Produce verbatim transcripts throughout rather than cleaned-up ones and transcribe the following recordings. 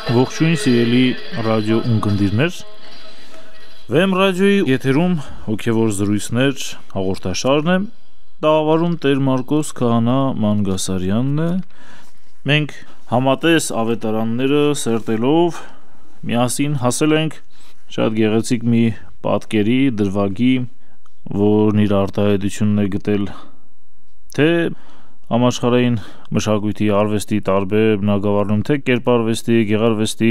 Ողջույն սիրելի ռադիո ունկնդիրներ, Վեմ ռադիոյի եթերում հոգևոր զրույցներ հաղորդաշարն է, տաղավարում Տեր Մարկոս Քահանա Մանգասարյանն է, մենք համատես ավետարանները սերտելով միասին հասել ենք շատ գեղեցիկ մի պատկերի, դրվագի, որն իր արտահայտությունն է գտել թե համաշխարհային մշակույթի արվեստի տարբեր բնագավառներում, թե կերպարվեստի, գեղարվեստի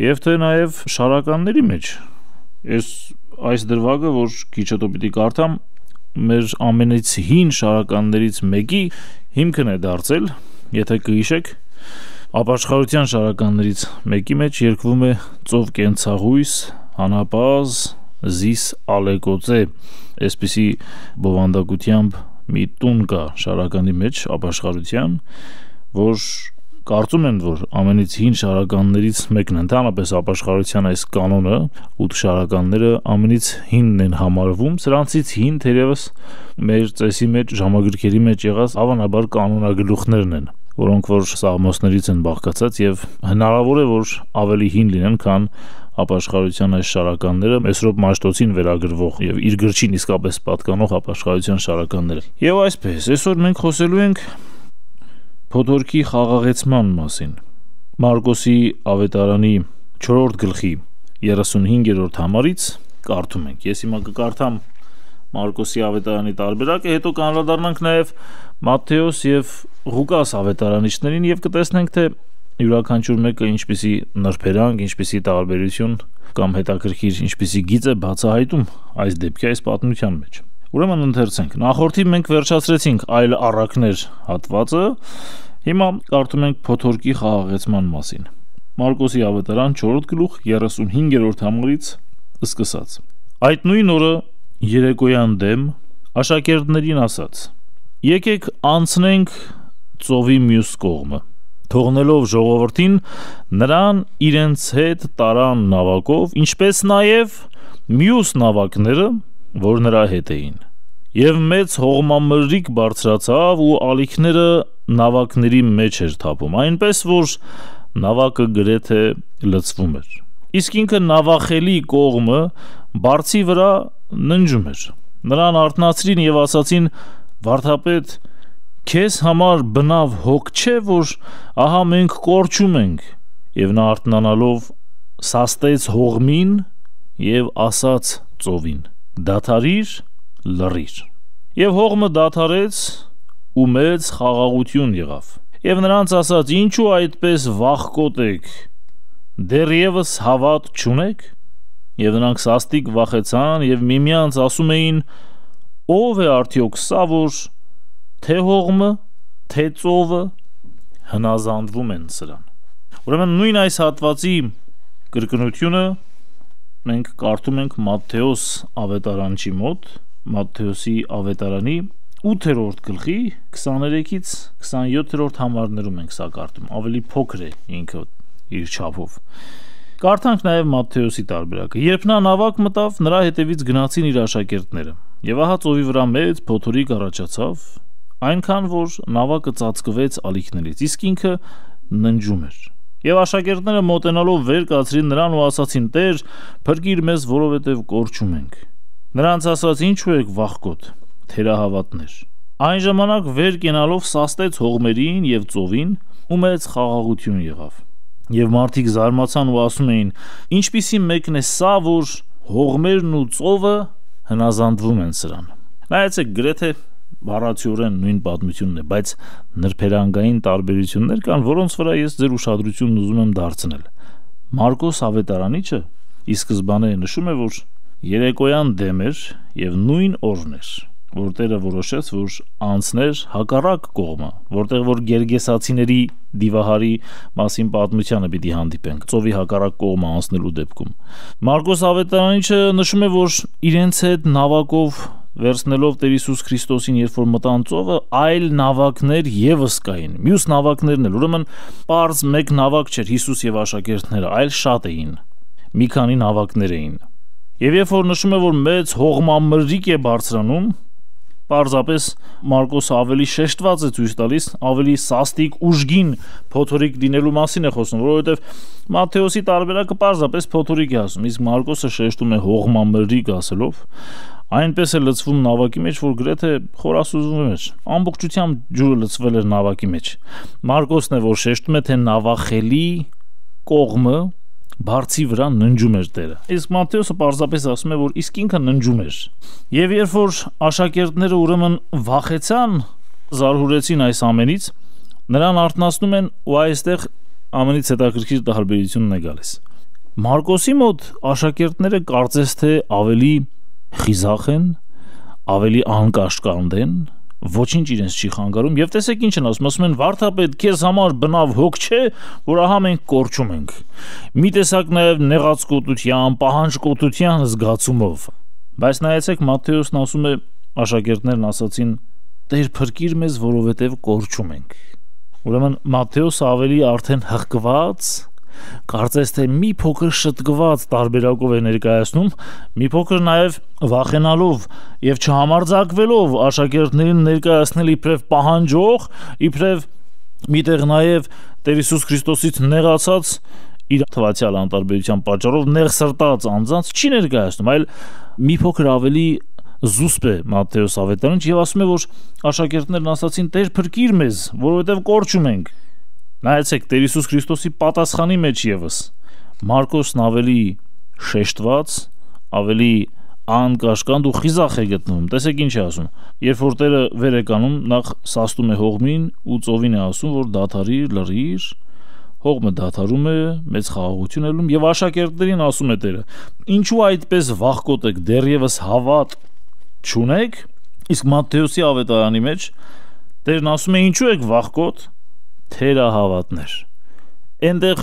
եւ թե նաեւ շարականների մեջ։ Ես այս դրվագը, որ քիչ հետո պիտի կարդամ, մեր ամենից հին շարականներից մեկի հիմքն է դարձել, եթե կհիշեք, ապաշխարության շարականներից մեկի մեջ երգվում է ծով կենցաղույս, հանապազ, զիս ալեկոծե, այսպիսի բովանդակությամբ մի տուն կա շարականի մեջ ապաշխարության, որ կարծում են, որ ամենից հին շարականներից մեկն ընդհանրապես ապաշխարության այս կանոնը, ութ շարականները ամենից հինն են համարվում, սրանցից հին թերևս մեր ծեսի մեջ, ժամագրքերի մեջ եղած հավանաբար կանոնագլուխներն են, որոնք որ սաղմոսներից են բաղկացած եւ հնարավոր է, որ ավելի հին լինեն, քան ապաշխարության այս շարականները, Մեսրոպ Մաշտոցին վերագրվող եւ իր գրչին իսկապես պատկանող ապաշխարության շարականները։ Եվ այսպես, այսօր մենք խոսելու ենք փոթորքի խաղաղեցման մասին։ Մարկոսի ավետարանի չորրորդ գլխի երեսունհինգերորդ համարից կարդում ենք։ Ես հիմա կկարդամ Մարկոսի ավետարանի տարբերակը, հետո կանրադառնանք նաեւ Մատթեոս եւ Ղուկաս ավետարանիչներին եւ կտեսնենք, թե յուրաքանչյուր մեկը ինչպիսի նրբերանգ, ինչպիսի տարբերություն կամ հետաքրքիր ինչպիսի գիծ է բացահայտում այս դեպքի, այս պատմության մեջ։ Ուրեմն ընթերցենք։ Նախորդի մենք վերջացրեցինք այլ առակներ հատվածը, հիմա կարդում ենք փոթորքի խաղաղեցման մասին։ Մարկոսի ավետարան չորրորդ գլուխ երեսունհինգերորդ համարից սկսած։ Այդ նույն օրը երեկոյան դեմ աշակերտներին ասաց. Եկեք անցնենք ծովի մյուս կողմը։ Թողնելով ժողովրդին, նրան իրենց հետ տարան նավակով, ինչպես նաև մյուս նավակները, որ նրա հետ էին։ Եվ մեծ հողմամրրիկ բարձրացավ ու ալիքները նավակների մեջ էր թափում, այնպես որ նավակը գրեթե լցվում էր։ Իսկ ինքը նավախելի կողմը բարձի վրա ննջում էր։ Նրան արթնացրին եւ ասացին. Վարդապետ, քեզ համար բնավ հոգ չէ, որ ահա մենք կորչում ենք։ Եվ նա արթնանալով սաստեց հողմին եւ ասաց ծովին. դադարիր, լռիր։ Եվ հողմը դադարեց ու մեծ խաղաղություն եղավ։ Եվ նրանց ասաց. ինչու այդպես վախկոտ եք, դեռևս հավատ չունեք։ Եվ նրանք սաստիկ վախեցան եւ միմյանց ասում էին. ով է արդյոք սա, որ թե հողմը, թե ծովը հնազանդվում են սրան։ Ուրեմն նույն այս հատվածի կրկնությունը մենք կարդում ենք Մատթեոս ավետարանչի մոտ, Մատթեոսի ավետարանի ութերորդ գլխի քսաներեքից քսանյոթերորդ համարներում ենք սա կարդում, ավելի փոքր է ինքը իր չափով։ Կարդանք նաև Մատթեոսի տարբերակը։ Երբ նա նավակ մտավ, նրա հետևից գնացին իր աշակերտները։ Եվ ահա ծովի վրա մեծ փոթորիկ առաջացավ, այնքան որ նավակը ծածկվեց ալիքներից, իսկ ինքը ննջում էր։ Եվ աշակերտները մոտենալով վեր կացրին նրան ու ասացին. Տեր, փրկիր մեզ, որովհետև կորչում ենք։ Նրանց ասաց. ինչու եք վախկոտ, թերահավատներ։ Այն ժամանակ վեր կենալով սաստեց հողմերին եւ ծովին ու մեծ խաղաղություն եղավ։ Եվ մարդիկ զարմացան ու ասում էին. ինչպիսի մեկն է սա, որ հողմերն ու ծովը հնազանդվում են սրան։ Նայեցեք, գրեթե բառացիորեն նույն պատմությունն է, բայց նրբերանգային տարբերություններ կան, որոնց վրա ես ձեր ուշադրությունն ուզում եմ դարձնել։ Մարկոս ավետարանիչը ի սկզբանե նշում է, որ երեկոյան դեմ էր եւ նույն օրն էր, որ Տերը որոշեց, որ անցներ հակառակ կողմը, որտեղ որ գերգեսացիների դիվահարի մասին պատմությանը պիտի հանդիպենք, ծովի հակառակ կողմը անցնելու դեպքում։ Մարկոս ավետարանիչը նշում է, որ իրենց հետ նավակով վերցնելով Տեր Հիսուս Քրիստոսին, երբ որ մտան ծովը, այլ նավակներ եւս կային, մյուս նավակներն էլ, ուրեմն պարզ մեկ նավակ չէր Հիսուս եւ աշակերտները, այլ շատ էին, մի քանի նավակներ էին։ Եվ երբ որ նշում է, որ մեծ հողմամրրիկ է բարձրանում, պարզապես Մարկոսը ավելի շեշտված է ցույց տալիս, ավելի սաստիկ ուժգին փոթորիկ դինելու մասին է խոսում, որովհետև Մատթեոսի տարբերակը պարզապես փոթորիկ է ասում, իսկ Մարկոսը շեշտում է հողմամրրիկ ասելով, այնպես է լցվում նավակի մեջ, որ գրեթե խորասուզվում էր, ամբողջությամբ ջուրը լցվել էր նավակի մեջ։ Մարկոսն է, որ շեշտում է, թե նավախելի կողմը բարձի վրա ննջում էր Տերը։ Իսկ Մատթեոսը պարզապես ասում է, որ իսկ ինքը ննջում էր։ Եվ երբ որ աշակերտները ուրեմն վախեցան, զարհուրեցին այս ամենից, նրան արթնացնում են ու այստեղ ամենից հետաքրքիր տարբերությունն է գալիս։ Մարկոսի մոտ աշակերտները կարծես թե ավելի խիզախ են, ավելի անկաշկանդ են, ոչինչ իրենց չի խանգարում, եւ տեսեք ինչ են ասում, ասում են վարդապետ, քեզ համար բնավ հոգ չէ, որ ահա մենք կորչում ենք։ Մի տեսակ նաեւ նեղացկոտության, պահանջկոտության զգացումով։ Բայց նայեցեք, Մատթեոսն ասում է, աշակերտներն ասացին. «Տեր փրկիր մեզ, որովհետեւ կորչում ենք»։ Ուրեմն Մատթեոսը ավելի արդեն հղկված, կարծես թե մի փոքր շտկված տարբերակով է ներկայացնում, մի փոքր նաև վախենալով եւ չհամարձակվելով աշակերտներին ներկայացնել իբրև պահանջող, իբրև միտեղ նաև Տեր Հիսուս Քրիստոսից նեղացած, իր թվացial անտարբերության պատճառով նեղսրտած անձանց չի ներկայացնում, այլ մի փոքր ավելի զուսպ է Մատթեոս ավետարանիչ եւ ասում է, որ աշակերտներն ասացին. «Տեր փրկիր մեզ, որովհետեւ կորչում ենք»։ Նայեցեք, Տեր Հիսուս Քրիստոսի պատասխանի մեջ եւս Մարկոսն ավելի շեշտված, ավելի անկաշկանդ ու խիզախ է գտնվում։ Տեսեք ինչ է ասում։ Երբ որ Տերը վեր է կանում, նախ սաստում է հողմին ու ծովին է ասում, որ դադարիր, լռիր, հողմը դադարում է, մեծ խաղաղություն ելնում եւ աշակերտներին ասում է Տերը. «Ինչու այդպես վախկոտ եք, դեռևս հավատ չունեք»։ Իսկ Մատթեոսի ավետարանի մեջ Տերն ասում է. «Ինչու եք վախկոտ, թերահավատներ»։ Այնտեղ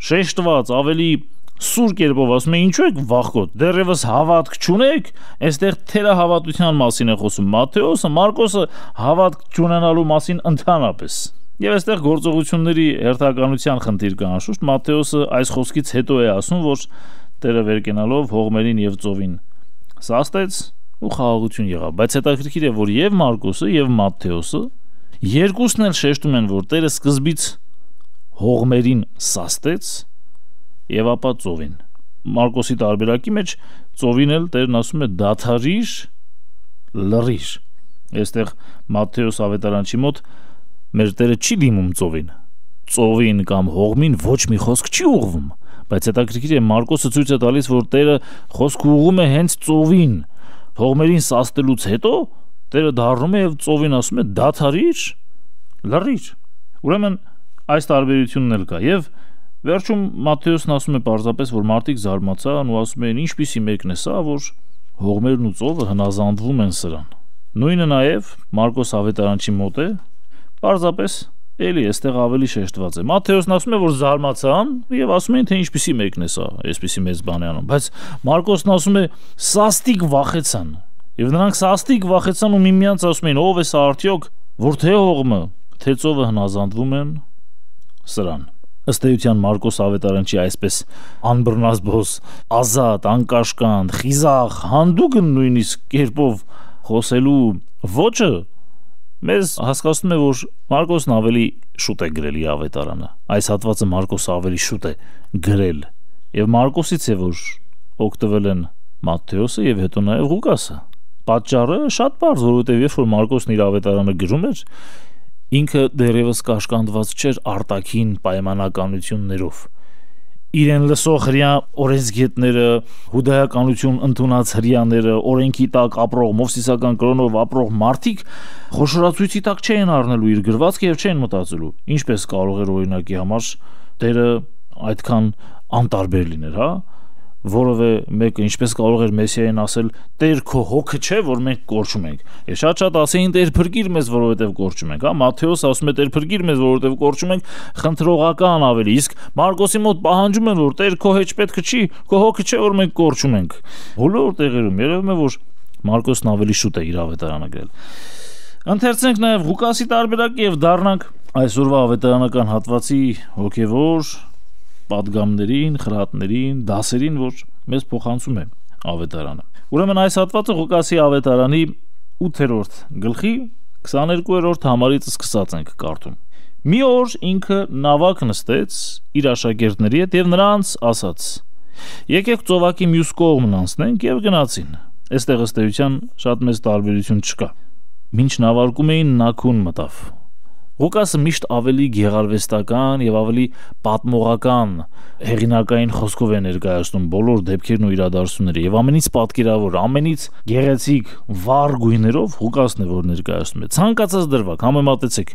շեշտված ավելի սուր կերպով ասում է. «Ինչու եք վախկոտ, դեռևս հավատք չունեք»։ Այստեղ թերահավատության մասին է խոսում Մատթեոսը, Մարկոսը հավատք չունենալու մասին ընդհանրապես։ Եվ այստեղ գործողությունների հերթականության խնդիր կա անշուշտ։ Մատթեոսը այս խոսքից հետո է ասում, որ Տերը վեր կենալով հողմերին եւ ծովին սաստեց ու խաղաղություն եղավ։ Բայց հետաքրքիր է, որ եւ Մարկոսը եւ Մատթեոսը երկուսն էլ շեշտում են, որ Տերը սկզբից հողմերին սաստեց եւ ապա ծովին։ Մարկոսի տարբերակի մեջ ծովին էլ Տերն ասում է դադարիր, լռիր։ Այստեղ Մատթեոս ավետարանչի մոտ մեր Տերը չի դիմում ծովին։ Ծովին կամ հողմին ոչ մի խոսք չի ուղղվում, բայց հետաքրքիր է, Մարկոսը ցույց է տալիս, որ Տերը խոսք ուղղում է հենց ծովին։ Հողմերին սաստելուց հետո Տերը դառնում է եւ ծովին ասում է դադարիր, լռիր։ Ուրեմն այս տարբերությունն էլ կա եւ վերջում Մատթեոսն ասում է պարզապես, որ մարդիկ զարմացան ու ասում են ինչպիսի մեկն է սա, որ հողմերն ու ծովը հնազանդվում են սրան։ Նույնը նաեւ Մարկոս ավետարանչի մոտ է, պարզապես էլի այստեղ ավելի շեշտված է։ Մատթեոսն ասում է, որ զարմացան եւ ասում են, թե ինչպիսի մեկն է սա, այսպիսի մեծ բան է անում, բայց Մարկոսն ասում է սաստիկ վախեցան։ Եվ նրանք սաստիկ վախեցան ու միմյանց ասում են, ով է սա արդյոք, որ թե հողմը, թե ծովը հնազանդվում են սրան։ Ըստ էության Մարկոս ավետարանչի այսպես անբռնազբոս, ազատ, անկաշկանդ, խիզախ, հանդուգն նույնիսկ կերպով խոսելու ոճը մեզ հասկացնում է, որ Մարկոսն ավելի շուտ է գրել իր ավետարանը։ Այս հատվածը Մարկոսը ավելի շուտ է գրել եւ Մարկոսից է, որ օգտվել են Մատթեոսը եւ հետո նաեւ Ղուկասը։ Պատճառը շատ բարձ, որովհետեւ երբ որ Մարկոսն իր ավետարանը գրում էր, ինքը դեռևս կաշկանդված չէր արտաքին պայմանականություններով։ Իրեն լսող հրյա օրենսգետները, հուդայականություն ընդունած հրյաները, օրենքի տակ ապրող, մովսիսական կրոնով ապրող մարդիկ խոշորացույցի տակ չէին առնելու իր գրվածքը եւ չէին մտածելու, ինչպես կարող էր օրինակի համար Տերը այդքան անտարբեր լիներ, հա, որովե մեկը ինչպես կարող էր Մեսիային ասել. «Տեր քո հոգը չէ, որ մենք կորչում ենք»։ Եվ շատ-շատ ասեին Տեր փրկիր մեզ, որովհետև կորչում ենք, հա։ Մատթեոսը ասում է Տեր փրկիր մեզ, որովհետև կորչում ենք, խնդրողական ավելի, իսկ Մարկոսի մոտ պահանջում են, որ Տեր քո հեչ պետք չի, քո հոգը չէ, որ մենք կորչում ենք։ Բոլոր տեղերում երևում է, որ Մարկոսն ավելի շուտ է իր ավետարանը գրել։ Ընթերցենք նաև Ղուկասի տարբերակը եւ դառնանք այսօրվա ավետարանական հատվածի հոգևոր պատգամներին, խրատներին, դասերին, որ մեզ փոխանցում է ավետարանը։ Ուրեմն այս հատվածը Ղուկասի ավետարանի ութերորդ գլխի քսաներկուերորդ համարից սկսած ենք կարդում։ Մի օր ինքը նավակ նստեց իր աշակերտների հետ եւ նրանց ասաց. «Եկեք ծովակի մյուս կողմն անցնենք» եւ գնացին։ Այստեղ ըստ էության շատ մեծ տարբերություն չկա։ Մինչ նավարկում էին Նաքուն մտավ։ Ղուկասը միշտ ավելի գեղարվեստական եւ ավելի պատմողական հեղինակային խոսքով է ներկայացնում բոլոր դեպքերն ու իրադարձությունները եւ ամենից պատկերավոր, ամենից գեղեցիկ վառ գույներով Ղուկասն է, որ ներկայացնում է։ Ցանկացած դրվագ համեմատեցեք,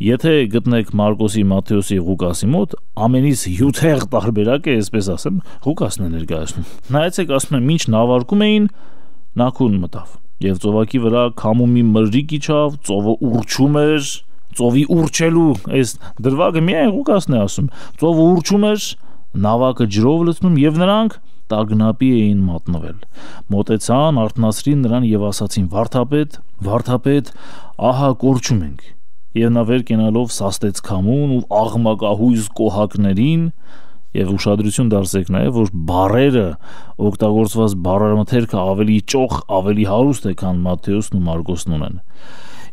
եթե գտնեք Մարկոսի, Մատթեոսի եւ Ղուկասի մոտ, ամենից հյութեղ տարբերակը, այսպես ասեմ, Ղուկասն է ներկայացնում։ Նայեցեք, ասում եմ, մինչ նավարկում էին Նաքուն մտավ եւ ծովակի վրա քամու մի մրրիկ իջավ, ծովը ուռչում էր, ծովի ուռչելու այս դրվագը միայն Ղուկասն է ասում, ծովը ուռչում էր, նավակը ջրով լցնում եւ նրանք տագնապի էին մատնվել։ Մոտեցան, արթնացրին նրան եւ ասացին. «Վարդապետ, վարդապետ, ահա կորչում ենք»։ Եվ նա վեր կենալով սաստեց քամուն ու աղմակահույս կոհակներին եւ ուշադրություն դարձեք նաեւ, որ բառերը օգտագործված բառամթերքը ավելի ճոխ, ավելի հարուստ է, քան Մատթեոսն ու Մարկոսն ունեն։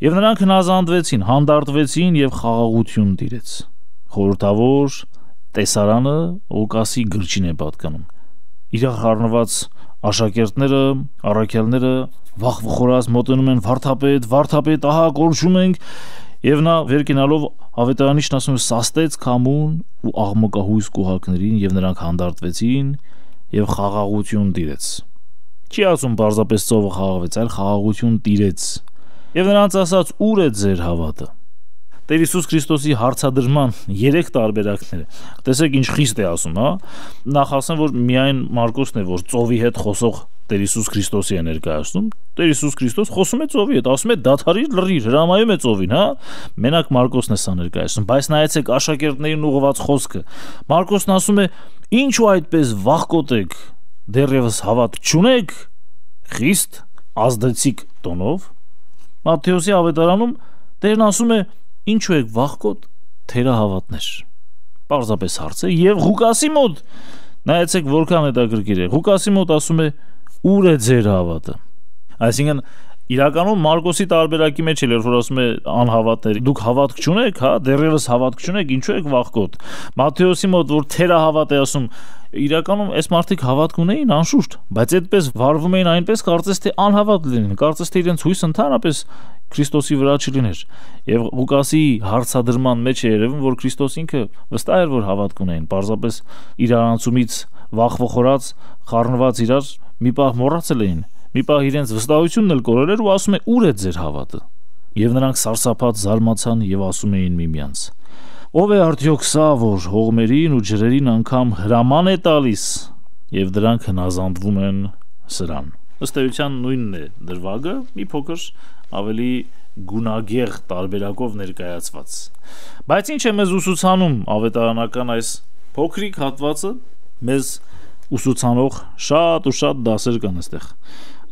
Եվ նրանք հնազանդվեցին, հանդարտվեցին եւ խաղաղություն տիրեց։ Խորհրդավոր տեսարանը Ղուկասի գրչին է պատկանում։ Իրար խառնված աշակերտները, առաքյալները վախվխորած մոտենում են. «Վարդապետ, վարդապետ, ահա կորչում ենք»։ Եվ նա վեր կենալով ավետարանիչն ասում է սաստեց քամուն ու աղմկահույս կոհակներին եւ նրանք հանդարտվեցին եւ խաղաղություն տիրեց։ Չի ասում պարզապես ծովը խաղաղվեց, այլ խաղաղություն տիրեց։ Եվ նրանց ասաց. «Ուր է ձեր հավատը»։ Տեր Հիսուս Քրիստոսի հարցադրման երեք տարբերակները։ Տեսեք ինչ խիստ է ասում, հա։ Նախ ասեմ, որ միայն Մարկոսն է, որ ծովի հետ խոսող Տեր Հիսուս Քրիստոսի է ներկայացնում։ Տեր Հիսուս Քրիստոս խոսում է ծովի հետ, ասում է դադարիր, լռիր, հրամայում է ծովին, հա։ Մենակ Մարկոսն է սա ներկայացնում, բայց նայեցեք աշակերտներին ուղղված խոսքը։ Մարկոսն ասում է. «Ինչու այդպես վախկոտ եք, դեռևս հավատ չունեք»։ Խիստ ազդեցիկ տոնով։ Մատթեոսի ավետարանում Տերն ասում է. «Ինչու եք վախկոտ, թերահավատներ»։ Պարզապես հարց է։ Եվ Ղուկասի մոտ նայեցեք որքան հետաքրքիր է։ Ղուկասի մոտ ասում է. «Ուր է ձեր հավատը»։ Այսինքն իրականում Մարկոսի տարբերակի մեջ էլ որ ասում է անհավատներ, դուք հավատք չունեք, հա, դեռևս հավատք չունեք, ինչու եք վախկոտ։ Մատթեոսի մոտ որ թերահավատ է ասում, իրականում այս մարդիկ հավատք ունեին անշուշտ, բայց այդպես վարվում էին այնպես, կարծես թե անհավատ լինեն, կարծես թե իրենց հույսը ընդհանրապես Քրիստոսի վրա չլիներ։ Եվ Ղուկասի հարցադրման մեջ է երևում, որ Քրիստոս ինքը վստահ էր, որ հավատք ունեին, պարզապես իրարանցումից վախվխորած, խառնված իրար մի պահ մոռացել էին։ Մի պահ իրենց վստահությունն էլ կորել էր ու ասում է. «Ուր է ձեր հավատը»։ Եվ նրանք սարսափած զարմացան եւ ասում էին միմյանց. «Ո՞վ է արդյոք սա, որ հողմերին ու ջրերին անգամ հրաման է տալիս»։ Եվ դրանք հնազանդվում են սրան։ Ըստ էության նույնն է դրվագը, մի փոքր ավելի գունագեղ տարբերակով ներկայացված։ Բայց ինչ է մեզ ուսուցանում ավետարանական այս փոքրիկ հատվածը, մեզ ուսուցանող շատ ու շատ դասեր կան այստեղ։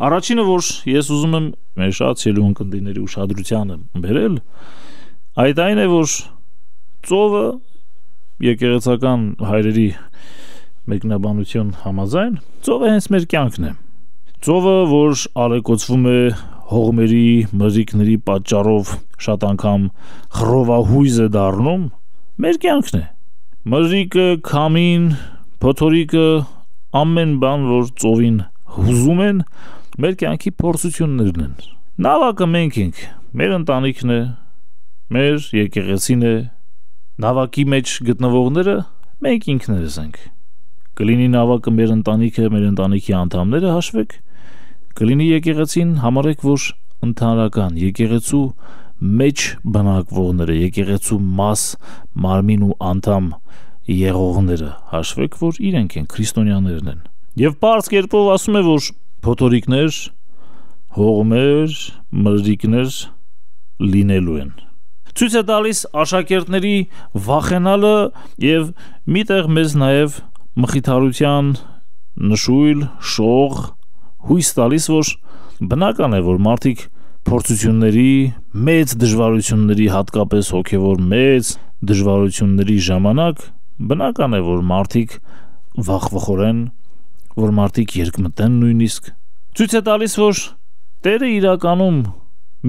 Առաջինը, որ ես ուզում եմ մեր շատ սիրելի ունկնդիրների ուշադրությանը բերել, այդ այն է, որ ծովը եկեղեցական հայրերի մեկնաբանություն համաձայն, ծովը հենց մեր կյանքն է։ Ծովը, որ ալեկոծվում է հողմերի, մրրիկների պատճառով շատ անգամ խռովահույզ է դառնում, մեր կյանքն է։ Մրրիկը, քամին, փոթորիկը, ամեն բան, որ ծովին հուզում են, մեր կյանքի փորձություններն են։ Նավակը մենք ենք, մեր ընտանիքն է, մեր եկեղեցին է, նավակի մեջ գտնվողները մենք ինքներս ենք։ Կլինի նավակը մեր ընտանիքը, մեր ընտանիքի անդամները հաշվեք, կլինի եկեղեցին, համարեք, որ ընդհանրական եկեղեցու մեջ բնակվողները, եկեղեցու մաս, մարմին ու անդամ եղողները հաշվեք, որ իրենք են, քրիստոնյաներն են։ Եվ պարզ կերպով ասում է, որ փոթորիկներ, հողմեր, մրրիկներ լինելու են։ Ցույց է տալիս աշակերտների վախենալը եւ միտեղ մեզ նաեւ մխիթարության նշույլ, շող, հույս տալիս, որ բնական է, որ մարդիկ փորձությունների, մեծ դժվարությունների, հատկապես հոգևոր մեծ դժվարությունների ժամանակ բնական է, որ մարդիկ վախվխորեն, որ մարդիկ երկմտեն նույնիսկ։ Ցույց է տալիս, որ Տերը իրականում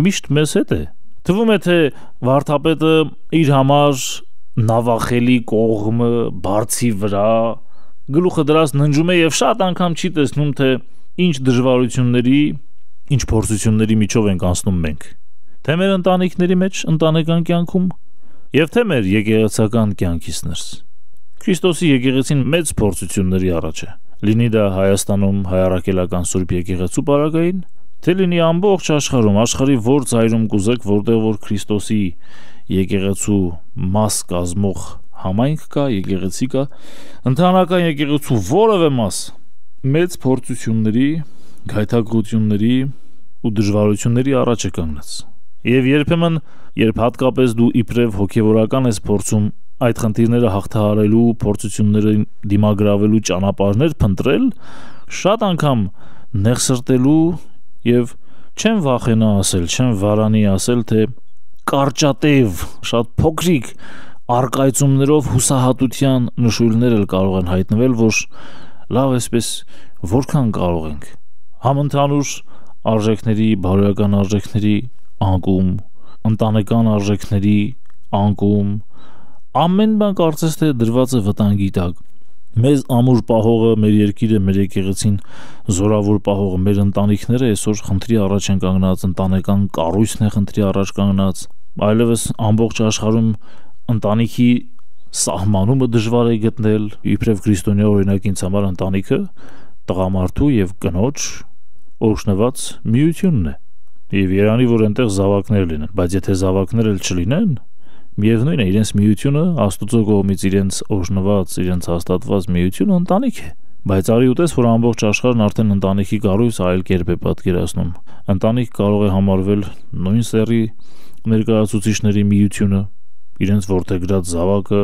միշտ մեզ հետ է։ Թվում է, թե վարդապետը իր համար նավախելի կողմը բարձի վրա գլուխը դրած ննջում է եւ շատ անգամ չի տեսնում, թե ինչ դժվարությունների, ինչ փորձությունների միջով ենք անցնում մենք։ Թե մեր ընտանիքների մեջ, ընտանեկան կյանքում եւ թե մեր եկեղեցական կյանքից ներս։ Քրիստոսի եկեղեցին մեծ փորձությունների առաջ է։ Լինի դա Հայաստանում հայարակելական Սուրբ եկեղեցու պարագային, թե լինի ամբողջ աշխարհում, աշխարհի որ ծայրում կուզեք, որտեղ որ Քրիստոսի եկեղեցու մաս կազմող համայնք կա, եկեղեցի կա, ընդհանրական եկեղեցու որևէ մաս մեծ փորձությունների, գայթակղությունների ու դժվարությունների առաջ է կանգնած։ Եվ երբեմն, երբ հատկապես դու իբրև հոգևորական ես փորձում այդ խնդիրները հաղթահարելու, փորձություններին դիմագրավելու ճանապարհներ փնտրել, շատ անգամ նեղսրտելու եւ չեմ վախենա ասել, չեմ վարանի ասել, թե կարճատև, շատ փոքրիկ արկայծումներով հուսահատության նշույլներ էլ կարող են հայտնվել, որ լավ էսպես որքան կարող ենք համընդհանուր արժեքների, բարոյական արժեքների անկում, ընտանեկան արժեքների անկում, ամեն բան կարծես թե դրված է վտանգի տակ։ Մեզ ամուր պահողը, մեր երկիրը, մեր եկեղեցին զորավոր պահողը, մեր ընտանիքները այսօր խնդրի առաջ են կանգնած, ընտանեկան կառույցն է խնդրի առաջ կանգնած, այլևս ամբողջ աշխարհում ընտանիքի սահմանումը դժվար է գտնել, իբրև քրիստոնյա օրինակ ինձ համար ընտանիքը տղամարդու եւ կնոջ օրհնված միությունն է։ Եվ երանի որ այնտեղ զավակներ լինեն, բայց եթե զավակներ էլ չլինեն, միևնույն է, իրենց միությունը Աստծո կողմից իրենց օրհնված, իրենց հաստատված միությունը ընտանիք է։ Բայց արի ուտես, որ ամբողջ աշխարհն արդեն ընտանիքի կառույց այլ կերպ է պատկերացնում։ Ընտանիք կարող է համարվել նույն սեռի ներկայացուցիչների միությունը, իրենց որդեգրած զավակը,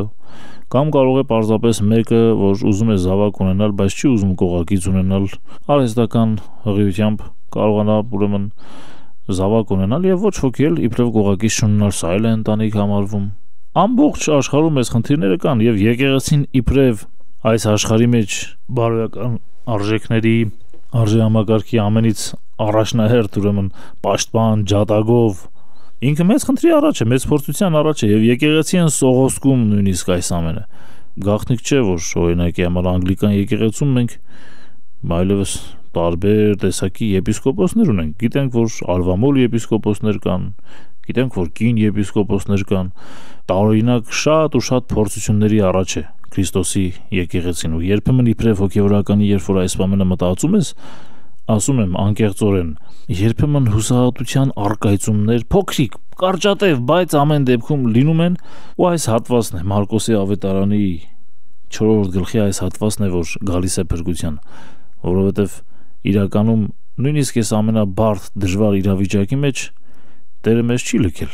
կամ կարող է պարզապես մեկը, որ ուզում է զավակ ունենալ, բայց չի ուզում կողակից ունենալ, արհեստական հղիությամբ կարողանա ուրեմն զավակ ունենալ եւ ոչ ոքի էլ իբրև կողակից չունենալ, սա էլ է ընտանիք համարվում։ Ամբողջ աշխարհում այս խնդիրները կան եւ եկեղեցին իբրև այս աշխարհի մեջ բարոյական արժեքների, արժեհամակարգի ամենից առաջնահերթ ուրեմն պաշտպան ջատագով ինքը մեծ խնդրի առաջ է, մեծ փորձության առաջ է եւ եկեղեցին սողոսկում նույնիսկ այս ամենը։ Գաղտնիք չէ, որ օրինակի համար անգլիկան եկեղեցում մենք այլևս տարբեր տեսակի եպիսկոպոսներ ունենք։ Գիտենք, որ ալվամոլ եպիսկոպոսներ կան, գիտենք, որ կին եպիսկոպոսներ կան։ Տարօրինակ շատ ու շատ փորձությունների առաջ է Քրիստոսի եկեղեցին ու երբեմն իբրև հոգևորականի, երբ որ այս բանը մտածում ես, ասում եմ անկեղծորեն, երբեմն հուսահատության արկայծումներ փոքրիկ, կարճատև, բայց ամեն դեպքում լինում են, ու այս հատվածն է Մարկոսի ավետարանի չորրորդ գլխի այս հատվածն է, որ գալիս է փրկության, որովհետև իրականում նույնիսկ այս ամենաբարդ դժվար իրավիճակի մեջ Տերը մեզ չի լքել։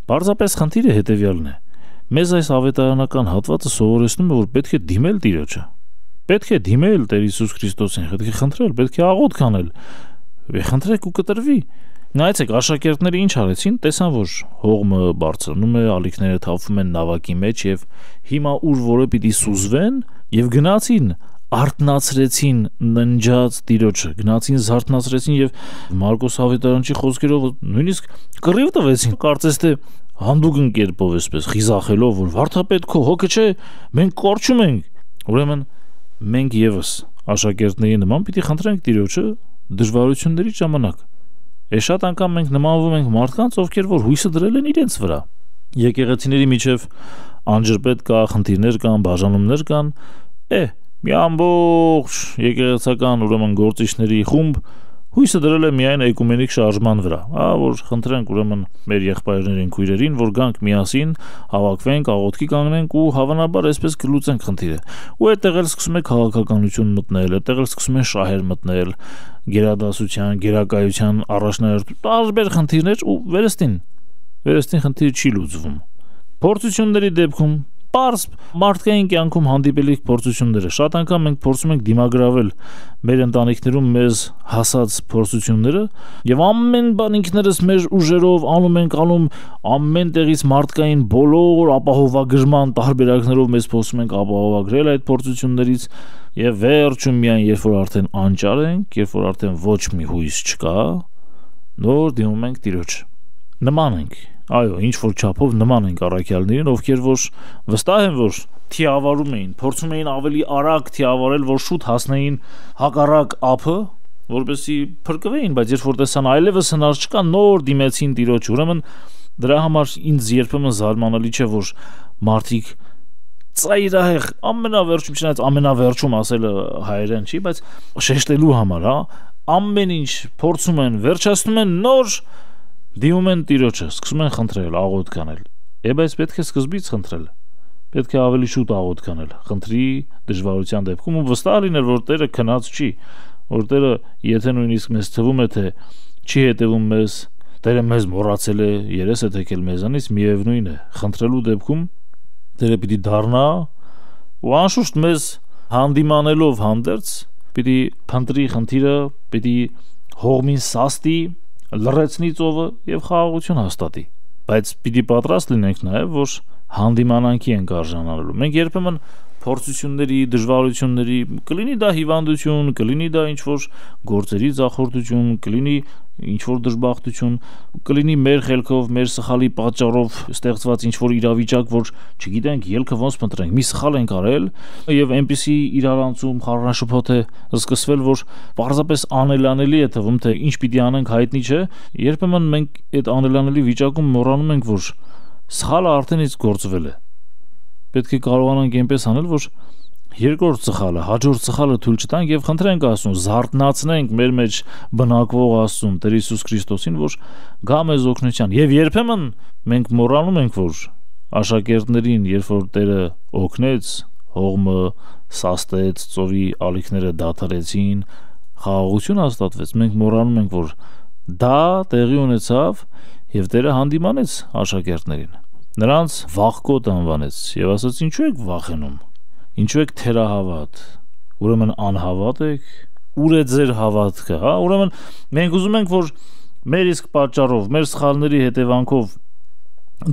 Պարզապես խնդիրը հետևյալն է։ Մեզ այս ավետարանական հատվածը սովորեցնում է, որ պետք է դիմել Տիրոջը։ Պետք է դիմել Տեր Հիսուս Քրիստոսին, պետք է խնդրել, պետք է աղոթք անել։ Խնդրեք ու կտրվի։ Նայեցեք, աշակերտները ինչ արեցին, տեսան, որ հողմը բարձրանում է, ալիքները թափվում են նավակի մեջ եւ հիմա ուր որը պիտի սուզվեն եւ գնացին արթնացրեցին ննջած Տիրոջը, գնացին զարթնացրեցին եւ Մարկոս ավետարանչի խոսքերով նույնիսկ կռիվ տվեցին, կարծես թե հանդուգն կերպով էսպես խիզախելով, որ վարդապետ քո հոգը չէ, մենք կորչում ենք։ Ուրեմն մենք եւս աշակերտների նման պիտի խնդրենք Տիրոջը դժվարությունների ժամանակ։ Է շատ անգամ մենք նմանվում ենք մարդկանց, ովքեր որ հույսը դրել են իրենց վրա։ Եկեղեցիների միջև անջրպետ կա, խնդիրներ կան, բաժանումներ կան։ Է մի ամբողջ եկեղեցական ուրեմն գործիչների խումբ հույսը դրել է միայն էկումենիկ շարժման վրա, հա, որ խնդրենք ուրեմն մեր եղբայրներին, քույրերին, որ գանք միասին, հավաքվենք, աղոթքի կանգնենք ու հավանաբար այսպես կլուծենք խնդիրը։ Ու այդտեղ էլ սկսում է քաղաքականություն մտնել, այդտեղ էլ սկսում են շահեր մտնել, գերադասության, գերակայության առաջնահերթ տարբեր խնդիրներ ու վերստին, վերստին խնդիրը չի լուծվում։ Փորձությունների դեպքում Պարզ մարդկային կյանքում հանդիպելիք փորձությունները շատ անգամ մենք փորձում ենք դիմագրավել մեր ընտանիքներում մեզ հասած փորձությունները եւ ամեն բան ինքներս մեր ուժերով անում ենք անում ամեն տեղից մարդկային բոլոր ապահովագրման տարբերակներով մեզ փորձում ենք ապահովագրել այդ փորձություններից եւ վերջում միայն երբ որ արդեն անճար ենք, երբ որ արդեն ոչ մի հույս չկա, նոր դիմում ենք Տիրոջ։ Նման ենք, այո, ինչ որ չափով նման ենք առաքյալներին, ովքեր որ վստահ են, որ թիավարում էին, փորձում էին ավելի արագ թիավարել, որ շուտ հասնեին հակառակ ափը, որպեսզի փրկվեին, բայց երբ որ տեսան այլևս հնար չկա, նոր դիմեցին Տիրոջ։ Ուրեմն դրա համար ինձ երբեմն զարմանալի չէ, որ մարդիկ ծայրահեղ ամենավերջում, չնայած ամենավերջում ասելը հայերեն չի, բայց շեշտելու համար, հա, ամեն ինչ փորձում են, վերջացնում են, նոր դիմում են Տիրոջը, սկսում են խնդրել, աղոթք անել։ Է, բայց պետք է սկզբից խնդրել, պետք է ավելի շուտ աղոթք անել, խնդրի դժվարության դեպքում ու վստահ լինել, որ Տերը քնած չի, որ Տերը եթե նույնիսկ մեզ թվում է, թե չի հետևում մեզ, Տերը մեզ մոռացել է, երես է թեքել մեզանից, միևնույն է, խնդրելու դեպքում Տերը պիտի դառնա ու անշուշտ մեզ հանդիմանելով հանդերձ պիտի փնտրի խնդիրը, պիտի հողմին սաստի, լռեցնի ծովը եւ խաղաղություն հաստատի, բայց պիտի պատրաստ լինենք նաեւ, որ հանդիմանանքի ենք արժանանալու։ Մենք երբեմն փորձությունների, դժվարությունների, կլինի դա հիվանդություն, կլինի դա ինչ-որ գործերի ձախորդություն, կլինի ինչ-որ դժբախտություն, կլինի մեր խելքով, մեր սխալի պատճառով ստեղծված ինչ-որ իրավիճակ, որ չգիտենք ելքը ոնց փնտրենք, մի սխալ ենք արել եւ այնպիսի իրարանցում խառնաշփոթ է սկսվել, որ պարզապես անելանելի է թվում, թե ինչ պիտի անենք հայտնի չէ։ Երբեմն մենք այդ անելանելի վիճակում մոռանում ենք, որ սխալը արդեն իսկ գործվել է։ Պետք է կարողանանք այնպես անել, որ երկրորդ սխալը, հաջորդ սխալը թույլ չտանք եւ խնդրենք Աստծուն, զարթնացնենք մեր մեջ բնակվող Աստծուն, Տեր Հիսուս Քրիստոսին, որ գա մեզ օգնության։ Եվ երբեմն մենք մոռանում ենք, որ աշակերտներին, երբ որ Տերը օգնեց, հողմը սաստեց, ծովի ալիքները դադարեցին, խաղաղություն հաստատվեց, մենք մոռանում ենք, որ դա տեղի ունեցավ եւ Տերը հանդիմանեց աշակերտներին, նրանց վախկոտ անվանեց եւ ասաց. ինչու եք վախենում, ինչու եք թերահավատ, ուրեմն անհավատ եք, ուր է ձեր հավատքը, հա։ Ուրեմն մենք ուզում ենք, որ մեր իսկ պատճառով, մեր սխալների հետևանքով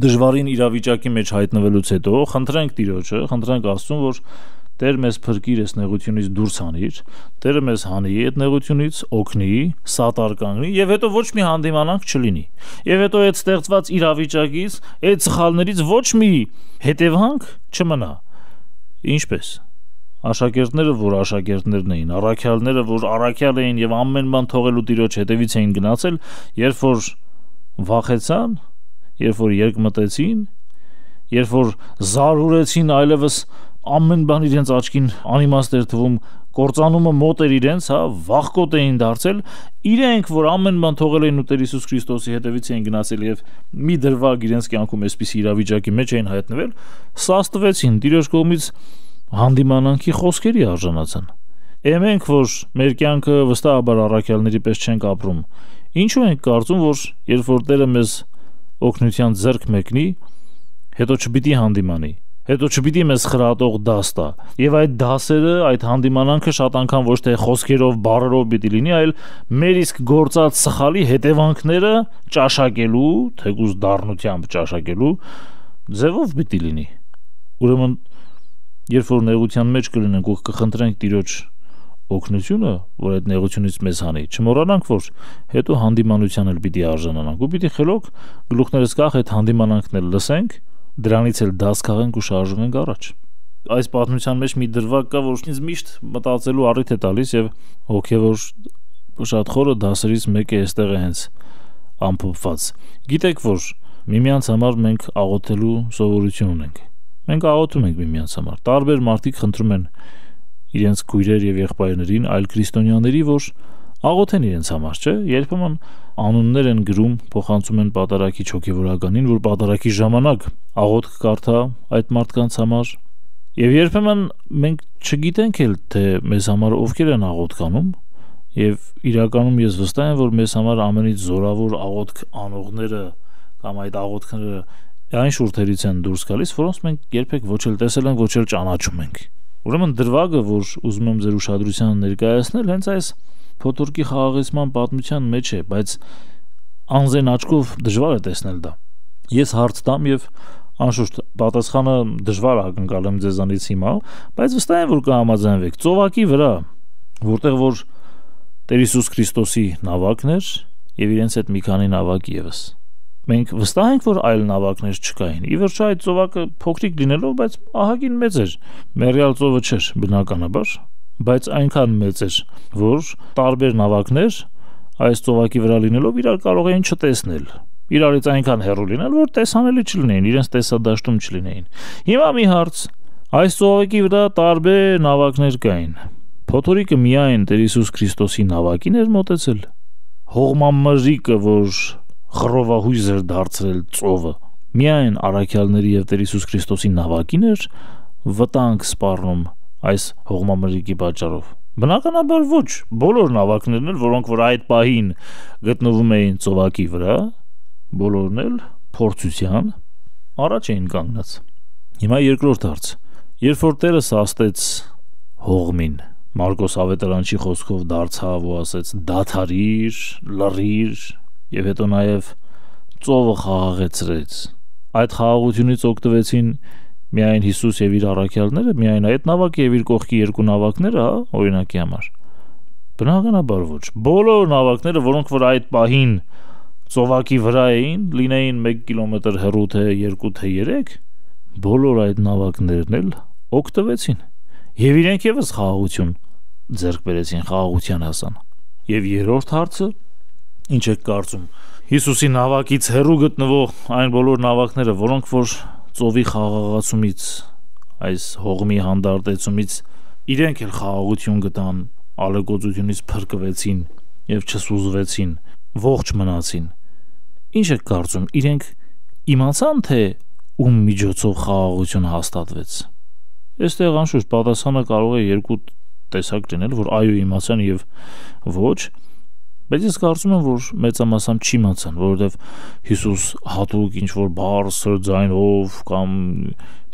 դժվարին իրավիճակի մեջ հայտնվելուց հետո խնդրենք Տիրոջը, խնդրենք Աստծուն, որ Տեր մեզ փրկիր այս նեղությունից դուրս հանիր, Տերը մեզ հանի այդ նեղությունից, օգնի, սատար կանգնի եւ հետո ոչ մի հանդիմանանք չլինի։ Եվ հետո այդ ստեղծված իրավիճակից, այդ սխալներից ոչ մի հետևանք չմնա։ Ինչպես աշակերտները, որ աշակերտներն էին, առաքյալները, որ առաքյալ էին եւ ամեն բան թողելու Տիրոջ հետևից էին գնացել, երբ որ վախեցան, երբ որ երկմտեցին, երբ որ զարհուրեցին, այլևս ամեն բան իրենց աչքին անիմաստ էր թվում, կործանումը մոտ էր իրենց, հա, վախկոտ էին դարձել, իրենք, որ ամեն բան թողել էին ու Տեր Հիսուս Քրիստոսի հետևից էին գնացել եւ մի դրվագ իրենց կյանքում այսպիսի իրավիճակի մեջ էին հայտնվել, սաստվեցին, Տիրոջ կողմից հանդիմանանքի խոսքերի արժանացան։ Է մենք, որ մեր կյանքը վստահաբար առաքյալների պես չենք ապրում, ինչու ենք կարծում, որ երբ որ Տերը մեզ օգնության ձեռք մեկնի, հետո չպիտի հանդիմանի, հետո չպիտի մեզ խրատող դաս տա, եւ այդ դասերը, այդ հանդիմանանքը շատ անգամ ոչ թե խոսքերով, բառերով պիտի լինի, այլ մեր իսկ գործած սխալի հետևանքները ճաշակելու, թեկուզ դառնությամբ ճաշակելու ձևով պիտի լինի։ Ուրեմն երբ որ նեղության մեջ կլինենք ու կխնդրենք Տիրոջ օգնությունը, որ այդ նեղությունից մեզ հանի, չմոռանանք, որ հետո հանդիմանության էլ պիտի արժանանանք ու պիտի խելոք գլուխներս կախ այդ հանդիմանանքն էլ լսենք, դրանից էլ դաս քաղենք ու շարժվենք առաջ։ Այս պատմության մեջ մի դրվագ կա, որ ինձ միշտ մտածելու առիթ է տալիս եւ հոգեվոր շատ խորը դասերից մեկը այստեղ է հենց ամփոփված։ Գիտեք, որ միմյանց համար մենք աղոթելու սովորություն ունենք։ Մենք աղոթում ենք միմյանց համար։ Տարբեր մարդիկ խնդրում են իրենց քույրեր եւ եղբայրներին, այլ քրիստոնյաների, որ աղոթեն իրենց համար, չէ՞։ Երբեմն անուններ են գրում, փոխանցում են պատարագիչ հոգեվորականին, որ պատարագի ժամանակ աղոթք կարդա այդ մարդկանց համար։ Եվ երբեմն մենք չգիտենք էլ, թե մեզ համար ովքեր են աղոթք անում, եւ իրականում ես վստահ եմ, որ մեզ համար ամենից զորավոր աղոթք անողները կամ այդ աղոթքները այն շուրթերից են դուրս գալիս, որոնց մենք երբեք ոչ էլ տեսել ենք, ոչ էլ ճանաչում ենք։ Ուրեմն դրվագը, որ ուզում եմ ձեր ուշադրությանը ներկայացնել, հենց այս փոթորկի խաղաղեցման պատմության մեջ է, բայց անզեն աչքով դժվար է տեսնել դա։ Ես հարց տամ եւ անշուշտ պատասխանը դժվար ակնկալեմ ձեզանից հիմա, բայց վստահ եմ, որ կհամաձայնվեք։ Ծովակի վրա, որտեղ որ Տեր Հիսուս Քրիստոսի նավակն էր, եւ իրենց հետ մի քանի նավակ եւս։ Մենք վստահ ենք, որ այլ նավակներ չկային։ Ի վերջո այդ ծովակը փոքրիկ լինելով, բայց ահագին մեծ էր։ Մերյալ ծովը չէր, բնականաբար, բայց այնքան մեծ էր, որ տարբեր նավակներ այս ծովակի վրա լինելով իրար կարող էին չտեսնել։ Իրարից այնքան հեռու լինել, որ տեսանելի չլինեին, իրենց տեսադաշտում չլինեին։ Հիմա մի հարց, այս ծովակի վրա տարբեր նավակներ կային։ Փոթորիկը միայն Տեր Հիսուս Քրիստոսի նավակին էր մոտեցել։ Հողմամրրիկը, որ խռովահույզ էր դարձրել ծովը, միայն առաքյալների եւ Տեր Հիսուս Քրիստոսի նավակին էր վտանգ սպառնում այս հողմամրրիկի պատճառով։ Բնականաբար ոչ, բոլոր նավակներն էլ, որոնք որ այդ պահին գտնվում էին ծովակի վրա, բոլորն էլ փորձության առաջ էին կանգնած։ Հիմա երկրորդ հարց. երբ որ Տերը սաստեց հողմին, Մարկոս ավետարանչի խոսքով դարձավ ու ասեց դադարիր, լռիր եւ հետո նաեւ ծովը խաղաղեցրեց։ Այդ խաղաղությունից օգտվեցին միայն Հիսուս եւ իր առաքյալները, միայն այդ նավակը եւ իր կողքի երկու նավակները, հա, օրինակի համար։ Բնականաբար ոչ։ Բոլոր նավակները, որոնք որ այդ պահին ծովակի վրա էին, լինեին մեկ կիլոմետր հեռու թե երկու թե երեք, բոլոր այդ նավակներն էլ օգտվեցին եւ իրենք եւս խաղաղություն ձեռք բերեցին, խաղաղության հասան։ Եվ երրորդ հարցը, ինչ եք կարծում, Հիսուսի նավակից հեռու գտնվող այն բոլոր նավակները, որոնք որ ծովի խաղաղացումից, այս հողմի հանդարտեցումից իրենք էլ խաղաղություն գտան, ալեկոծությունից փրկվեցին եւ չսուզվեցին, ողջ մնացին։ Ինչ եք կարծում, իրենք իմացան թե ում միջոցով խաղաղություն հաստատվեց։ Այստեղ անշուշտ պատասխանը կարող է երկու տեսակ լինել, որ այո իմացան եւ ոչ, բայց ես կարծում եմ, որ մեծամասամբ չիմացան, որովհետեւ Հիսուս հատուկ ինչ որ բարձր ձայնով կամ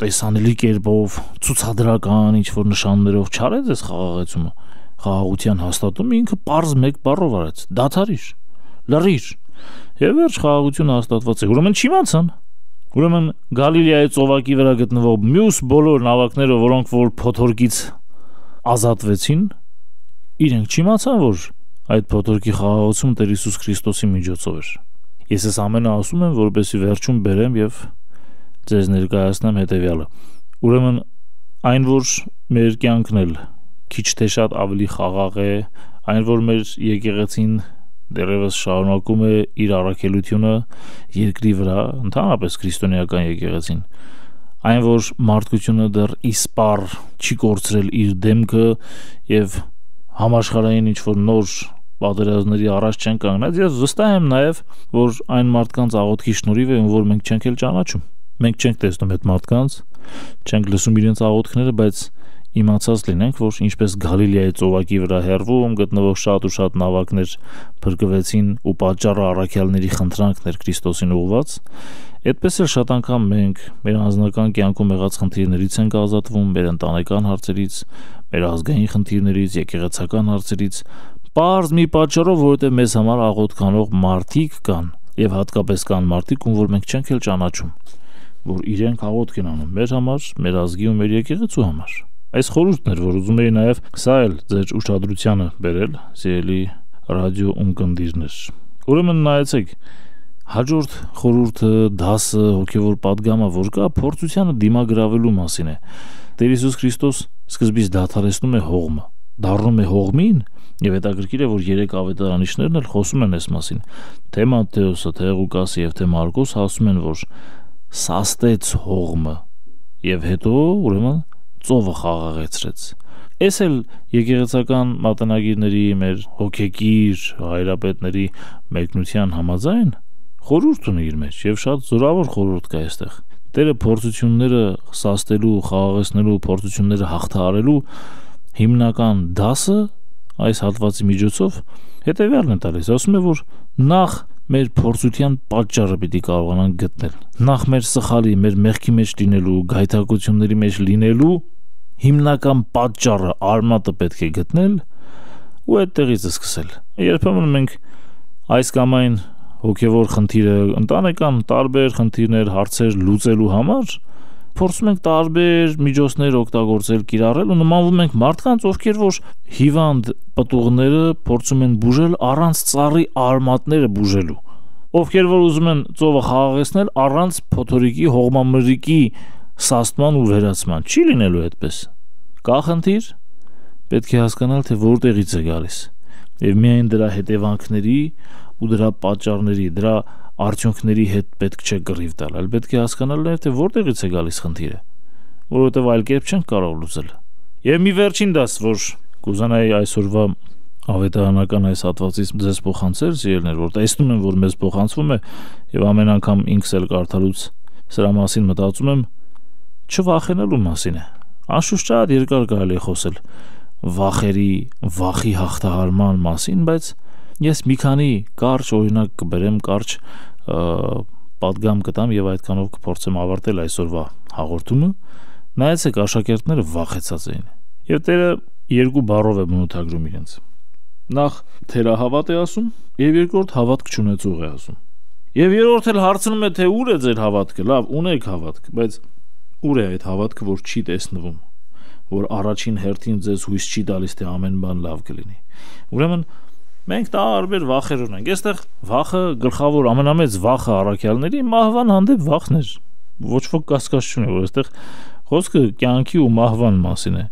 տեսանելի կերպով ցուցադրական ինչ որ նշաններով չարեց այս խաղաղեցումը, խաղաղության հաստատումը ինքը պարզ մեկ բառով արեց. դադարիր, լռիր։ Եվ վերջ խաղաղությունը հաստատված է։ Ուրեմն չիմացան։ Ուրեմն Գալիլեայի ծովակի վրա գտնվող մյուս բոլոր նավակները, որոնք որ փոթորկից ազատվեցին, իրենք չիմացան, որ այդ փոթորկի խաղաղությունը Տեր Հիսուս Քրիստոսի միջոցով էր։ Ես այս ամենը ասում եմ, որպեսզի վերջում բերեմ եւ ձեզ ներկայացնեմ հետեւյալը։ Ուրեմն այն, որ մեր կյանքն էլ քիչ թե շատ ավելի խաղաղ է, այն, որ մեր եկեղեցին դեռևս շարունակում է իր առաքելությունը երկրի վրա, ընդհանրապես քրիստոնեական եկեղեցին, այն, որ մարդկությունը դեռ իսպառ չի կորցրել իր դեմքը եւ համաշխարհային ինչ-որ նոր պատերազմների առաջ չեն կանգնած, ես վստահ եմ նաեւ, որ այն մարդկանց աղոթքի շնորհիվ է, որ մենք չենք էլ ճանաչում։ Մենք չենք տեսնում այդ մարդկանց, չենք լսում իրենց աղոթքները, բայց իմացած լինենք, որ ինչպես Գալիլեայի ծովակի վրա հեռվում գտնվող շատ ու շատ նավակներ փրկվեցին ու պատճառը առաքյալների խնդրանքն էր Քրիստոսին ուղղված, այդպես էլ շատ անգամ մենք մեր անձնական կյանքում եղած խնդիրներից ենք ազատվում, մեր ընտանեկան հարցերից, մեր ազգային խնդիրներից, եկեղեցական հարցերից, պարզ մի պատճառով, որովհետև մեզ համար աղոթքանող մարդիկ կան, եւ հատկապես կան մարդիկ, ում որ մենք չենք էլ ճանաչում, որ իրենք աղոթք են անում մեր համար, մեր ազգի ու մեր եկեղեցու համար։ Այս խորհուրդն էր, որ ուզում էի նաև սա էլ ձեր ուշադրությանը բերել, սիրելի ռադիո ունկնդիրներ։ Ուրեմն նայեցեք, հաջորդ խորհուրդը, դասը, հոգևոր պատգամը, որ կա, փորձությանը դիմագրավելու մասին է։ Տեր Հիսուս Քրիստոս սկզբից դադարեցնում է հողմը, դառնում է հողմին, եւ հետաքրքիր է, որ երեք ավետարանիչներն էլ խոսում են այս մասին։ Թե Մատթեոսը, թե Ղուկասը եւ թե Մարկոսը ասում են, որ սաստեց հողմը եւ հետո ուրեմն ծովը խաղաղեցրեց։ Այս էլ եկեղեցական մատենագիրների, մեր հոգեկիր հայրապետների մեկնության համաձայն խորհուրդ ունի իր մեջ եւ շատ զորավոր խորհուրդ կա այստեղ։ Տերը փորձությունները սաստելու, խաղաղեցնելու, փորձությունները հաղթահարելու հիմնական դասը այս հատվածի միջոցով հետեւյալն է տալիս։ Ասում է, որ նախ մեր փորձության պատճառը պիտի կարողանանք գտնել։ Նախ մեր սխալի, մեր մեղքի մեջ լինելու, գայթակղությունների մեջ լինելու հիմնական պատճառը, արմատը պետք է գտնել ու այդտեղից սկսել։ Երբեմն մենք այս կամ այն հոգևոր խնդիրը, ընտանեկան տարբեր խնդիրներ, հարցեր լուծելու համար փորձում ենք տարբեր միջոցներ օգտագործել, կիրառել ու նմանվում ենք մարդկանց, ովքեր որ հիվանդ պտուղները փորձում են բուժել առանց ծառի արմատները բուժելու, ովքեր որ ուզում են ծովը խաղաղեցնել առանց փոթորիկի, հողմամրրիկի սաստման ու վերացման։ Չի լինելու այդպես։ Կա խնդիր, պետք է հասկանալ, թե որտեղից է գալիս, եւ միայն դրա հետևանքների ու դրա պատճառների, դրա արդյունքների հետ պետք չէ կռիվ տալ, այլ պետք է հասկանալ նաեւ, թե որտեղից է գալիս խնդիրը, որովհետեւ այլ կերպ չենք կարող լուծել։ Եվ մի վերջին դաս, որ կուզանայի այսօրվա ավետարանական այս հատվածից ձեզ փոխանցել, սիրելիներ, որ տեսնում եմ, որ մեզ փոխանցվում է եւ ամեն անգամ ինքս էլ կարդալուց սրա մասին մտածում եմ, չվախենալու մասին է։ Անշուշտ շատ երկար կարելի է խոսել վախերի, վախի հաղթահարման մասին, բայց ես մի քանի կարճ օրինակ կբերեմ, կարճ պատգամ կտամ եւ այդքանով կփորձեմ ավարտել այսօրվա հաղորդումը։ Նայեցեք, աշակերտները վախեցած էին եւ Տերը երկու բառով է բնութագրում իրենց։ Նախ թերահավատ է ասում եւ երկրորդ հավատք չունեցող է ասում։ Եվ երրորդ էլ հարցնում է, թե ուր է ձեր հավատքը։ Լավ, ունեք հավատք, բայց ուր է այդ հավատքը, որ չի տեսնվում, որ առաջին հերթին ձեզ հույս չի տալիս, թե ամեն բան լավ կլինի։ Ուրեմն մենք տարբեր վախեր ունենք։ Այստեղ վախը գլխավոր ամենամեծ վախը առաքյալների մահվան հանդեպ վախն էր։ Ոչ ոք կասկած չունի, որ այստեղ խոսքը կյանքի ու մահվան մասին է։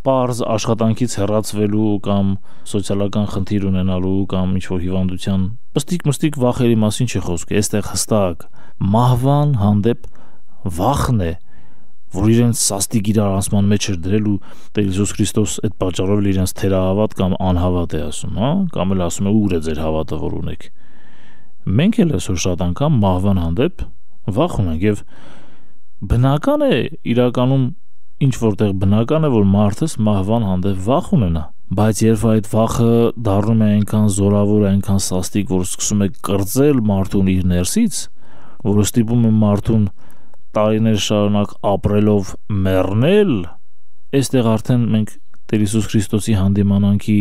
Պարզ աշխատանքից հեռացվելու կամ սոցիալական խնդիր ունենալու կամ ինչ-որ հիվանդության պստիկ-մստիկ վախերի մասին չի խոսքը։ Այստեղ հստակ մահվան հանդեպ վախն է, որ իրենց սաստիկ իրարանցման մեջ էր դրել ու Տեր Հիսուս Քրիստոս այդ պատճառով իրենց թերահավատ կամ անհավատ է ասում, հա, կամ էլ ասում է ուր է ձեր հավատը, որ ունեք։ Մենք էլ այսօր շատ անգամ մահվան հանդեպ վախ ունենք եւ բնական է, իրականում ինչ որտեղ բնական է, որ մարդս մահվան հանդեպ վախ ունենա, բայց երբ այդ վախը դառնում է այնքան զորավոր, այնքան սաստիկ, որ սկսում է կրծել մարդուն իր ներսից, որը ստիպում է մարդուն տարիներ շարունակ ապրելով մեռնել, այստեղ արդեն մենք Տեր Հիսուս Քրիստոսի հանդիմանանքի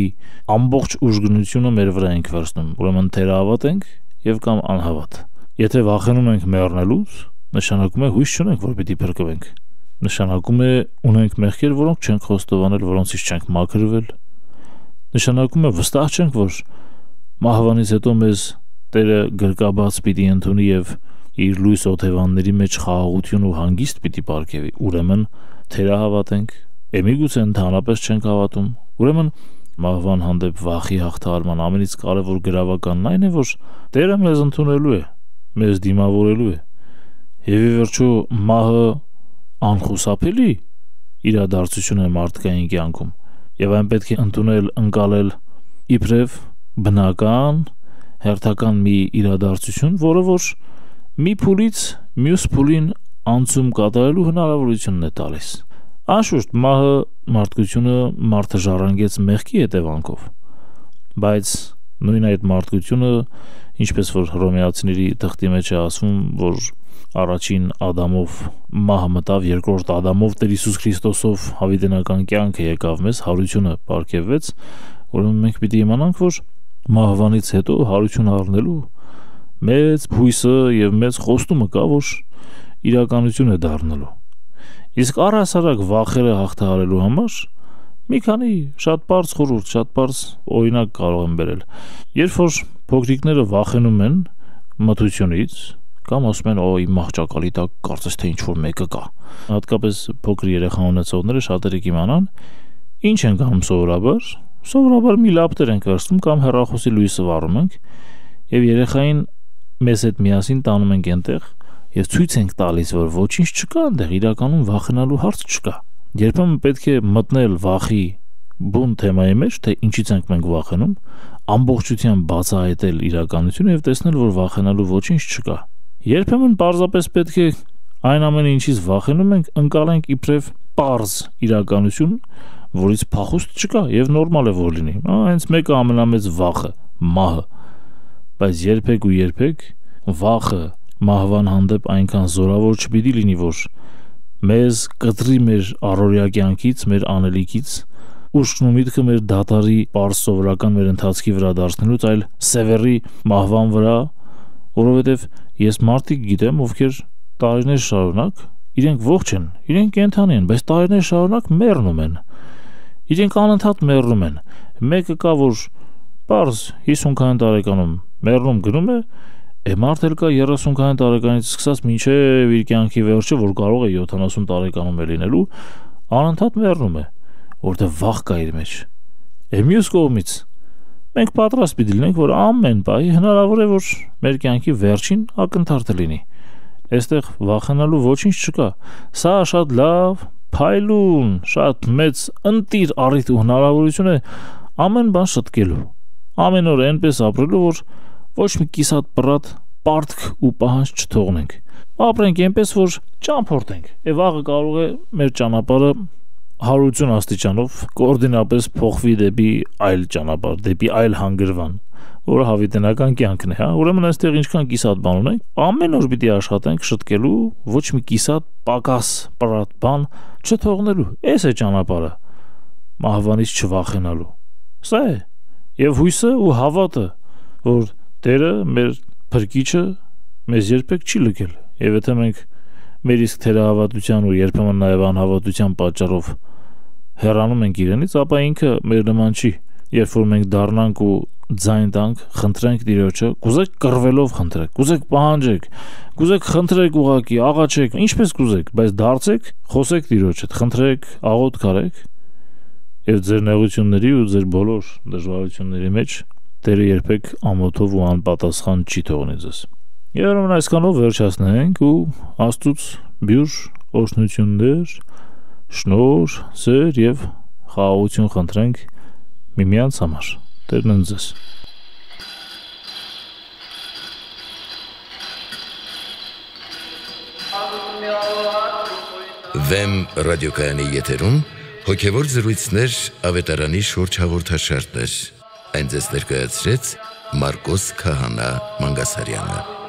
ամբողջ ուժգնությունը մեր վրա ենք վերցնում։ Ուրեմն թերահավատ ենք եւ կամ անհավատ։ Եթե վախենում ենք մեռնելուց, նշանակում է հույս չունենք, որ պիտի փրկվենք։ Նշանակում է ունենք մեղքեր, որոնք չենք խոստովանել, որոնցից չենք մաքրվել։ Նշանակում է վստահ չենք, որ մահվանից հետո մեզ Տերը գրկաբաց պիտի ընդունի եւ իր լույս օթևանների մեջ խաղաղություն ու հանգիստ պիտի պարգևի։ Ուրեմն թերահավատ ենք, էմիգուցե ընդհանրապես չենք հավատում։ Ուրեմն մահվան հանդեպ վախի հաղթահարման ամենից կարևոր գրավականն այն է, որ Տերը մեզ ընդունելու է, մեզ դիմավորելու է։ Եվ ի վերջո մահը անխուսափելի իրադարձություն է մարդկային կյանքում եւ այն պետք է ընդունել, ընկալել իբրև բնական, հերթական մի իրադարձություն, որը որ մի փուլից մյուս փուլին անցում կատարելու հնարավորությունն է տալիս։ Անշուշտ մահը մարդկությունը մարդը ժառանգեց մեղքի հետևանքով, բայց նույն այդ մարդկությունը, ինչպես որ Հռոմեացիների թղթի մեջ է ասվում, որ առաջին Ադամով մահը մտավ, երկրորդ Ադամով Տեր Հիսուս Քրիստոսով հավիտենական կյանքը եկավ մեզ, հարությունը պարգևվեց, ուրեմն մենք պիտի իմանանք, որ մահվանից հետո հարություն առնելու մեծ հույսը եւ մեծ խոստումը կա, որ իրականություն է դառնալու։ Իսկ առհասարակ վախերը հաղթահարելու համար մի քանի շատ բարձ խորհուրդ, շատ բարձ օրինակ կարող եմ բերել։ Երբ որ փոքրիկները վախենում են մթությունից, կամ ասում են, օ, իմ մահճակալի տակ կարծես թե ինչ-որ մեկը կա։ Հատկապես փոքր երեխա ունեցողները շատերը կիմանան, ինչ են անում սովորաբար։ Սովորաբար մի լապտեր ենք վերցնում կամ հեռախոսի լույսը վառում ենք եւ երեխային մեզ հետ միասին տանում ենք այնտեղ եւ ցույց ենք տալիս, որ ոչինչ չկա այնտեղ, իրականում վախենալու հարց չկա։ Երբեմն պետք է մտնել վախի բուն թեմայի մեջ, թե ինչից ենք մենք վախենում, ամբողջությամբ բացահայտել իրականությունը եւ տեսնել, որ վախենալու ոչինչ չկա։ Երբեմն պարզապես պետք է այն ամենը, ինչից վախենում ենք, ընկալենք իբրև պարզ իրականություն, որից փախուստ չկա եւ նորմալ է որ լինի։ Հենց մեկը ամենամեծ վախը, մահը։ Բայց երբեք ու երբեք վախը մահվան հանդեպ այնքան զորավոր չպիտի լինի, որ մեզ կտրի մեր առօրյա կյանքից, մեր անելիքից, ուշքն ու միտքը մեր դատարի պարզ սովորական մեր ընթացքի վրա դարձնելուց, այլ սևեռի մահվան վրա, որովհետև ես մարդիկ գիտեմ, ովքեր տարիներ շարունակ իրենք ողջ են, իրենք կենդանի են, բայց տարիներ շարունակ մեռնում են։ Իրենք անընդհատ մեռնում են։ Մեկը կա, որ պարզ հիսուն տարեկանում մեռնում գնում է, է մարդ էլ կա երեսուն տարեկանից սկսած մինչև իր կյանքի վերջը, որ կարող է յոթանասուն տարեկանում է լինելու, անընդհատ մեռնում է, որտեղ վախ կա իր մեջ։ Է մյուս կողմից մենք պատրաստ պիտի լինենք, որ ամեն բանի հնարավոր է, որ մեր կյանքի վերջին ակնթարթը լինի։ Այստեղ վախենալու ոչինչ չկա։ Սա շատ լավ, փայլուն, շատ մեծ ընտիր առիթ ու հնարավորություն է ամեն բան շտկելու։ Ամեն օր այնպես ապրելու, որ ոչ մի կիսատ պրատ պարտք ու պահանջ չթողնենք։ Ապրենք այնպես, որ ճամփորդենք։ Եվ վաղը կարող է մեր ճանապարհը հարություն աստիճանով կոորդինապես փոխվի դեպի այլ ճանապարհ, դեպի այլ հանգրվան, որը հավիտենական կյանքն է, հա։ Ուրեմն այստեղ ինչքան կիսատ բան ունենք, ամեն օր պիտի աշխատենք շտկելու, ոչ մի կիսատ պակաս պրատ բան չթողնելու։ Էս է ճանապարհը մահվանից չվախենալու։ Սա է։ Եվ հույսը ու հավատը, որ Տերը մեր փրկիչը մեզ երբեք չի լքել։ Եվ եթե մենք մեր իսկ թերահավատության ու երբեմն նաև անհավատության պատճառով հեռանում ենք իրենից, ապա ինքը մեր նման չի։ Երբ որ մենք դառնանք ու ձայն տանք, խնդրենք Տիրոջը, կուզեք կռվելով խնդրեք, կուզեք պահանջեք, կուզեք խնդրեք ուղակի, աղաչեք, ինչպես կուզեք, բայց դարձեք, խոսեք Տիրոջ հետ, խնդրեք, աղոթք արեք, եւ ձեր նեղությունների ու ձեր բոլոր դժվարությունների մեջ Տերը երբեք ամոթով ու անպատասխան չի թողնի ձեզ։ Երբ այսքանով վերջացնենք ու Աստծուց բյուր օրհնություններ, շնորհ, սեր եւ խաղաղություն խնդրենք միմյանց համար։ Տերն ընդ ձեզ։ Վեմ ռադիոկայանի եթերում հոգևոր զրույցներ ավետարանի շուրջ հաղորդաշարներ։ Այն ձեզ ներկայացրեց Մարկոս Քահանա Մանգասարյանը։